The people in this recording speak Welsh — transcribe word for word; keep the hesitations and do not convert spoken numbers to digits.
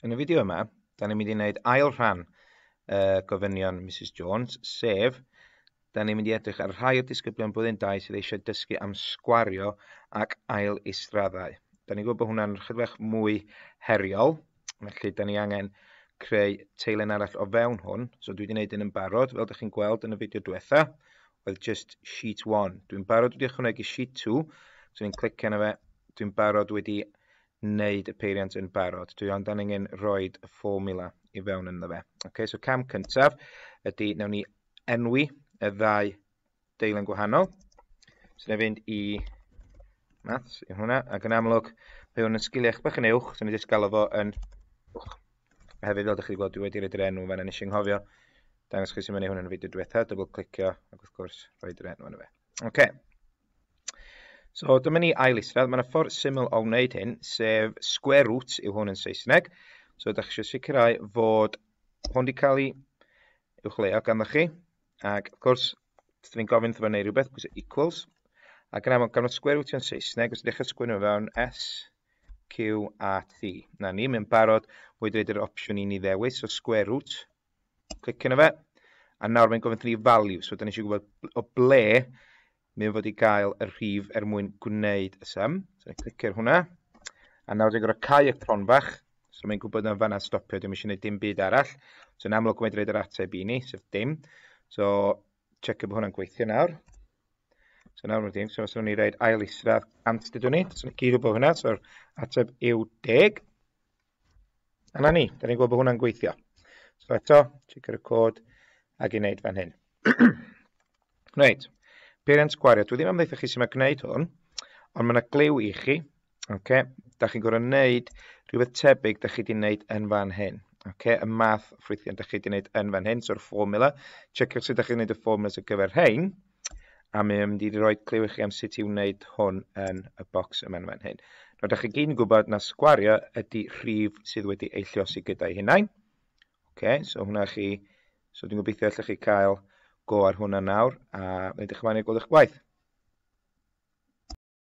Yn y fideo yma, da ni'n mynd i wneud ail rhan uh, gofynion Misus Jones, sef, da ni'n mynd i edrych ar rhai o'r disgyblion blwyddyn dau sydd eisiau dysgu am sgwario ac ail israddau. Da ni'n gwybod bod hwnna'n chydig bach mwy heriol, felly da ni angen creu teilen arall o fewn hwn. So dwi wedi gwneud un yn barod, fel ydych chi'n gweld yn y fideo diwetha, oedd just sheet one. Dwi'n barod wedi ychwanegu sheet two, so ni'n clicio arno fe, dwi'n barod wedi wneud y peiriant yn barod. Dwi ond angen rhoi y fformula i fewn ynddo fe. Okay, so cam cyntaf ydy nawn ni enwi y ddau deilen gwahanol. So na fynd i maths i hwnna, ac yn amlwg mae hwn yn sgiliau bach yn uwch, so ni jyst galw fo yn uwch. A hefyd, fel ydych chi wedi gweld, dwi wedi roi'r enw fan, nes i anghofio dangos chi sy'n mynd i hwn yn y fideo diwetha, double clicio ac wrth gwrs roi'r enw yna fe. Okay. So dyma ni ail isradd. Mae yna ffordd syml o wneud hyn, sef square root yw hwn yn Saesneg. So ydych chi eisiau sicrhau fod hwn wedi cael ei uwchleuo ganddo chi. Ac wrth gwrs, dyn ni'n gofyn wrtho fo wneud rhywbeth, pwyso equals. Ac yn amlwg, gan fod square root yn Saesneg, os ydych chi'n sgwennu fewn S, Q A T. Na ni, mae'n barod wedi rhoi'r opsiwn i ni ddewis, so square root. Clicio arno fe. A nawr mae'n gofyn wrthyn ni value, so dyn ni eisiau gwybod o ble mae'n fod i gael y rhif er mwyn gwneud y sum. So ni'n clicio ar hwnna. A nawr dwi'n gorfod cau y cronfach, so mae'n gwybod na fanna stopio, dwi'n eisiau gwneud dim byd arall. So yn amlwg mae'n rhoi'r ateb i ni, sef dim. So checio bod hwnna'n gweithio nawr. So nawr mae'n dim, so os o'n i roid ail isradd cant dydw ni, so ni'n gyd gwybod hwnna, so'r ateb yw deg. A na ni, da ni'n gwybod bod hwnna'n gweithio. So eto, checio'r cod ac i wneud fan hyn. Reit, peiriant sgwario. Dwi ddim am ddeutha chi sut mae gwneud hwn, ond mae yna gliw i chi. Okay? Da chi'n gorfod wneud rhywbeth tebyg da chi wedi wneud yn fan hyn. Okay? Y math ffrwythiant da chi wedi wneud yn fan hyn, so'r fformula. Checiwch sut da chi'n wneud y fformulas ar gyfer rhain, a mae'n mynd i roi cliw i chi am sut i wneud hwn yn y bocs yma yn fan hyn. Nawr, da chi gyd yn gwybod na sgwario ydy rhif sydd wedi ei lluosi gyda'i hunain. Okay, so hwnna chi, so dwi'n gobeithio allwch chi cael go ar hwnna nawr, a edrych ymlaen i gweld eich gwaith.